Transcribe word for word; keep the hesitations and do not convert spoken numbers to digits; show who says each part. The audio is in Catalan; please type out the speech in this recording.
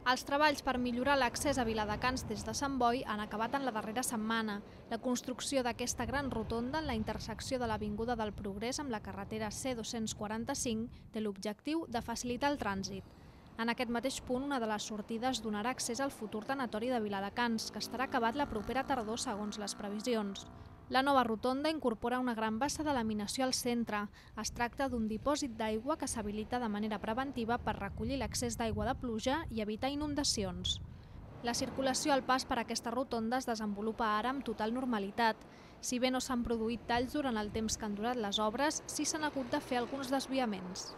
Speaker 1: Els treballs per millorar l'accés a Viladecans des de Sant Boi han acabat en la darrera setmana. La construcció d'aquesta gran rotonda en la intersecció de l'Avinguda del Progrés amb la carretera C dos-cents quaranta-cinc té l'objectiu de facilitar el trànsit. En aquest mateix punt, una de les sortides donarà accés al futur tanatori de Viladecans, que estarà acabat la propera tardor segons les previsions. La nova rotonda incorpora una gran bassa de laminació al centre. Es tracta d'un dipòsit d'aigua que s'habilita de manera preventiva per recollir l'excés d'aigua de pluja i evitar inundacions. La circulació al pas per aquesta rotonda es desenvolupa ara amb total normalitat. Si bé no s'han produït talls durant el temps que han durat les obres, sí s'han hagut de fer alguns desviaments.